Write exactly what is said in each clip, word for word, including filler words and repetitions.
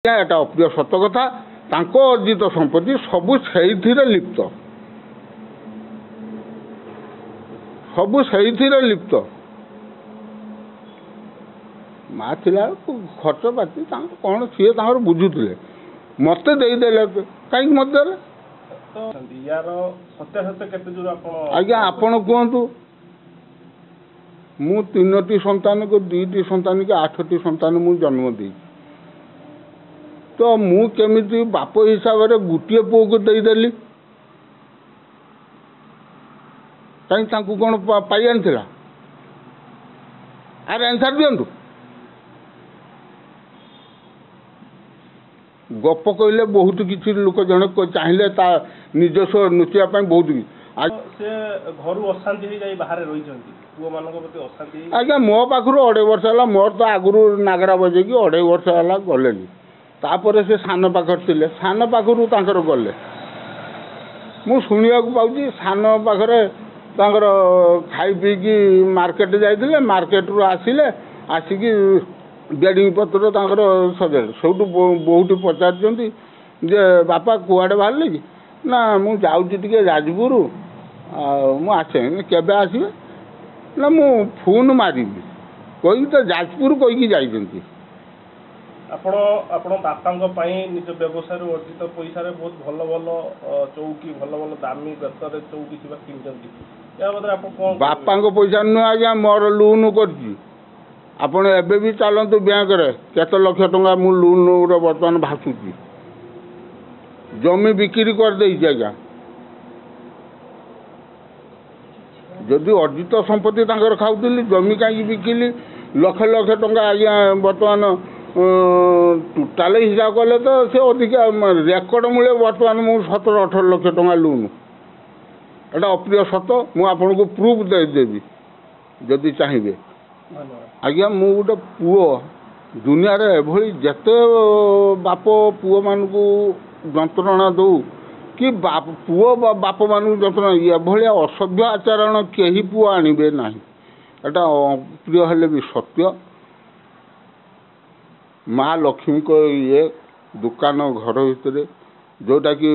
ଏଟା ଅପ୍ରିୟ ସତ କଥା, ତାଙ୍କ ଅର୍ଜିତ ସମ୍ପତ୍ତି ସବୁ ସେଇଥିରେ ଲିପ୍ତ, ସବୁ ସେଇଥିରେ ଲିପ୍ତ। ମା ଥିଲା, ଖର୍ଚ୍ଚ ପାତି ତାଙ୍କ କ'ଣ ସିଏ ତାଙ୍କର ବୁଝୁଥିଲେ। ମୋତେ ଦେଇଦେଲେ କାହିଁକି? ମୋତେ ଦେଲେ ୟାର ସତ୍ୟାସତ୍ୟ କେତେ ଦୂର ଆପଣ? ଆଜ୍ଞା ଆପଣ କୁହନ୍ତୁ। ମୁଁ ତିନୋଟି ସନ୍ତାନକୁ, ଦୁଇଟି ସନ୍ତାନ କି ଆଠଟି ସନ୍ତାନ ମୁଁ ଜନ୍ମ ଦେଇଛି, ତ ମୁଁ କେମିତି ବାପ ହିସାବରେ ଗୋଟିଏ ପୁଅକୁ ଦେଇଦେଲି? କାହିଁକି, ତାଙ୍କୁ କ'ଣ ପାଇ ଆଣିଥିଲା? ଆରେ ଆନ୍ସର୍ ଦିଅନ୍ତୁ। ଗପ କହିଲେ ବହୁତ କିଛି, ଲୋକ ଜଣେ ଚାହିଁଲେ ତା ନିଜସ୍ୱ ନୁଚିବା ପାଇଁ ବହୁତ କିଛି। ସେ ଘରୁ ଅଶାନ୍ତି ହେଇଯାଇ ବାହାରେ ରହିଛନ୍ତି, ପୁଅମାନଙ୍କ ପ୍ରତି ଅଶାନ୍ତି। ଆଜ୍ଞା ମୋ ପାଖରୁ ଅଢ଼େଇ ବର୍ଷ ହେଲା, ମୋର ତ ଆଗରୁ ନାଗରା ବଜେଇକି ଅଢ଼େଇ ବର୍ଷ ହେଲା ଗଲେନି। ତାପରେ ସେ ସାନ ପାଖରେ ଥିଲେ, ସାନ ପାଖରୁ ତାଙ୍କର ଗଲେ। ମୁଁ ଶୁଣିବାକୁ ପାଉଛି ସାନ ପାଖରେ ତାଙ୍କର ଖାଇ ପିଇକି ମାର୍କେଟ ଯାଇଥିଲେ, ମାର୍କେଟରୁ ଆସିଲେ, ଆସିକି ବେଡ଼ିଂ ପତ୍ର ତାଙ୍କର ସଜାଡ଼େ। ସେଇଠୁ ବୋଉଟି ପଚାରିଛନ୍ତି ଯେ ବାପା କୁଆଡ଼େ ବାହାରିଲେ କି? ନା ମୁଁ ଯାଉଛି ଟିକେ ଯାଜପୁର, ଆଉ ମୁଁ ଆସେ। କେବେ ଆସିବେ? ନା ମୁଁ ଫୋନ୍ ମାରିବି କହିକି ତ ଯାଜପୁର କହିକି ଯାଇଛନ୍ତି। ଆପଣ ଆପଣ ବାପାଙ୍କ ପାଇଁ ନିଜ ବ୍ୟବସାୟରୁ ଅର୍ଜିତ ପଇସାରେ ବହୁତ ଭଲ ଭଲ ଚୌକି, ଭଲ ଭଲ ଦାମୀ ବେତରେ ଚୌକି ଥିବା କିଣିଛନ୍ତି, ଏହା ବାବଦରେ ଆପଣ କ'ଣ? ବାପାଙ୍କ ପଇସା ନୁହେଁ ଆଜ୍ଞା, ମୋର ଲୋନ୍ କରିଛି। ଆପଣ ଏବେ ବି ଚାଲନ୍ତୁ ବ୍ୟାଙ୍କରେ, କେତେ ଲକ୍ଷ ଟଙ୍କା ମୁଁ ଲୋନ୍ରେ ବର୍ତ୍ତମାନ ଭାସୁଛି। ଜମି ବିକ୍ରି କରିଦେଇଛି ଆଜ୍ଞା। ଯଦି ଅର୍ଜିତ ସମ୍ପତ୍ତି ତାଙ୍କର ଖାଉଥିଲି, ଜମି କାହିଁକି ବିକିଲି? ଲକ୍ଷ ଲକ୍ଷ ଟଙ୍କା ଆଜ୍ଞା। ବର୍ତ୍ତମାନ ଟୋଟାଲ ହିସାବ କଲେ ତ ସେ ଅଧିକା ରେକର୍ଡ଼ ମୂଳେ ବର୍ତ୍ତମାନ ମୁଁ ସତର ଅଠର ଲକ୍ଷ ଟଙ୍କା ଲୋନ୍। ଏଇଟା ଅପ୍ରିୟ ସତ, ମୁଁ ଆପଣଙ୍କୁ ପ୍ରୁଫ୍ ଦେଇଦେବି ଯଦି ଚାହିଁବେ ଆଜ୍ଞା। ମୁଁ ଗୋଟେ ପୁଅ, ଦୁନିଆରେ ଏଭଳି ଯେତେ ବାପ ପୁଅମାନଙ୍କୁ ଯନ୍ତ୍ରଣା ଦେଉ କି ପୁଅ ବାପମାନଙ୍କୁ ଯନ୍ତ୍ରଣା, ଏଭଳିଆ ଅସଭ୍ୟ ଆଚରଣ କେହି ପୁଅ ଆଣିବେ ନାହିଁ। ଏଟା ଅପ୍ରିୟ ହେଲେ ବି ସତ୍ୟ। ମା ଲକ୍ଷ୍ମୀଙ୍କ ଇଏ ଦୋକାନ ଘର ଭିତରେ ଯେଉଁଟାକି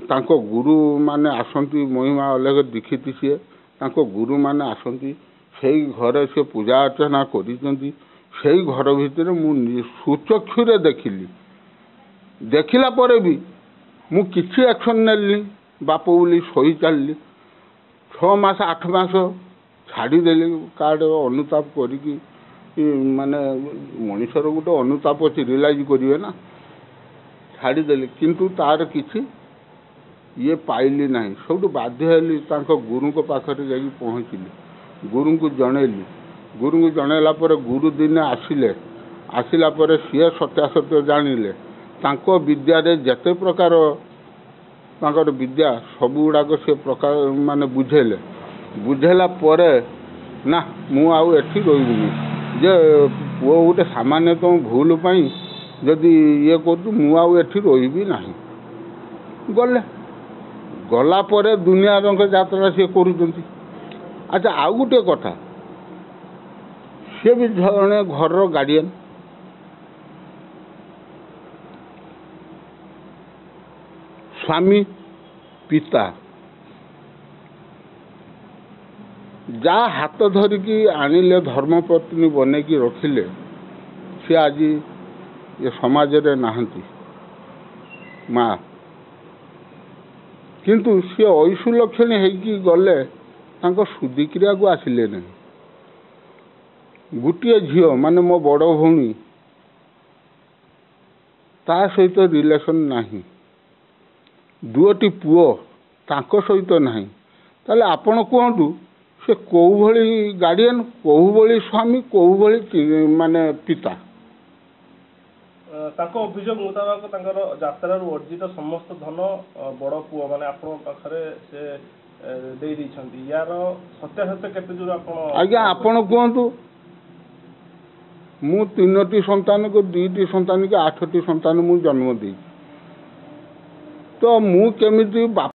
ତାଙ୍କ ଗୁରୁମାନେ ଆସନ୍ତି, ମହିମା ଅଲେଖ ଦୀକ୍ଷିତ ସିଏ, ତାଙ୍କ ଗୁରୁମାନେ ଆସନ୍ତି, ସେଇ ଘରେ ସେ ପୂଜା ଅର୍ଚ୍ଚନା କରିଛନ୍ତି। ସେଇ ଘର ଭିତରେ ମୁଁ ସୁଚକ୍ଷୁରେ ଦେଖିଲି। ଦେଖିଲା ପରେ ବି ମୁଁ କିଛି ଆକ୍ସନ୍ ନେଲିନି, ବାପ ବୋଲି ସହି ଚାଲିଲି। ଛଅ ମାସ ଆଠ ମାସ ଛାଡ଼ିଦେଲି କାର୍ଡ଼, ଅନୁତାପ କରିକି। ମାନେ ମଣିଷର ଗୋଟେ ଅନୁତାପ ଅଛି, ରିଏଲାଇଜ୍ କରିବେ ନା। ଛାଡ଼ିଦେଲି, କିନ୍ତୁ ତାର କିଛି ଇଏ ପାଇଲି ନାହିଁ। ସେଇଠୁ ବାଧ୍ୟ ହେଲି, ତାଙ୍କ ଗୁରୁଙ୍କ ପାଖରେ ଯାଇକି ପହଞ୍ଚିଲି, ଗୁରୁଙ୍କୁ ଜଣେଇଲି। ଗୁରୁଙ୍କୁ ଜଣେଇଲା ପରେ ଗୁରୁ ଦିନେ ଆସିଲେ। ଆସିଲା ପରେ ସିଏ ସତ୍ୟାସତ୍ୟ ଜାଣିଲେ। ତାଙ୍କ ବିଦ୍ୟାରେ ଯେତେ ପ୍ରକାର ତାଙ୍କର ବିଦ୍ୟା ସବୁଗୁଡ଼ାକ ସେ ପ୍ରକାର ମାନେ ବୁଝେଇଲେ। ବୁଝେଇଲା ପରେ ନା ମୁଁ ଆଉ ଏଠି ରହିବିନି, ଯେ ପୁଅ ଗୋଟେ ସାମାନ୍ୟତମ ଭୁଲ ପାଇଁ ଯଦି ଇଏ କରୁଛୁ, ମୁଁ ଆଉ ଏଠି ରହିବି ନାହିଁ। ଗଲେ, ଗଲା ପରେ ଦୁନିଆ ରଙ୍ଗ ଯାତ୍ରା ସିଏ କରୁଛନ୍ତି। ଆଚ୍ଛା ଆଉ ଗୋଟିଏ କଥା, ସିଏ ବି ଜଣେ ଘରର ଗାର୍ଡ଼ିଆନ୍, ସ୍ୱାମୀ, ପିତା। ଯାହା ହାତ ଧରିକି ଆଣିଲେ, ଧର୍ମପତ୍ନୀ ବନେଇକି ରଖିଲେ, ସିଏ ଆଜି ଏ ସମାଜରେ ନାହାନ୍ତି ମା। କିନ୍ତୁ ସିଏ ଐଶୁଲକ୍ଷଣୀ ହେଇକି ଗଲେ, ତାଙ୍କ ଶୁଦ୍ଧିକ୍ରିୟାକୁ ଆସିଲେ ନାହିଁ। ଗୋଟିଏ ଝିଅ ମାନେ ମୋ ବଡ଼ ଭଉଣୀ, ତା ସହିତ ରିଲେସନ୍ ନାହିଁ। ଦୁଇଟି ପୁଅ, ତାଙ୍କ ସହିତ ନାହିଁ। ତାହେଲେ ଆପଣ କୁହନ୍ତୁ, ସେ କେଉଁ ଭଳି ଗାର୍ଡ଼ିଆନ୍, କେଉଁ ଭଳି ସ୍ୱାମୀ, କେଉଁ ଭଳି ମାନେ ପିତା? ତାଙ୍କ ଅଭିଯୋଗ ମୁତାବକ ତାଙ୍କର ଯାତ୍ରାରୁ ଅର୍ଜିତ ସମସ୍ତ ଧନ ବଡ଼ ପୁଅ ମାନେ ଆପଣଙ୍କ ପାଖରେ ସେ ଦେଇ ଦେଇଛନ୍ତି, ୟାର ସତ୍ୟାସତ୍ୟ କେତେ ଦୂର ଆପଣ? ଆଜ୍ଞା ଆପଣ କୁହନ୍ତୁ। ମୁଁ ତିନୋଟି ସନ୍ତାନକୁ, ଦୁଇଟି ସନ୍ତାନ କି ଆଠଟି ସନ୍ତାନ ମୁଁ ଜନ୍ମ ଦେଇଛି, ତ ମୁଁ କେମିତି ବାପ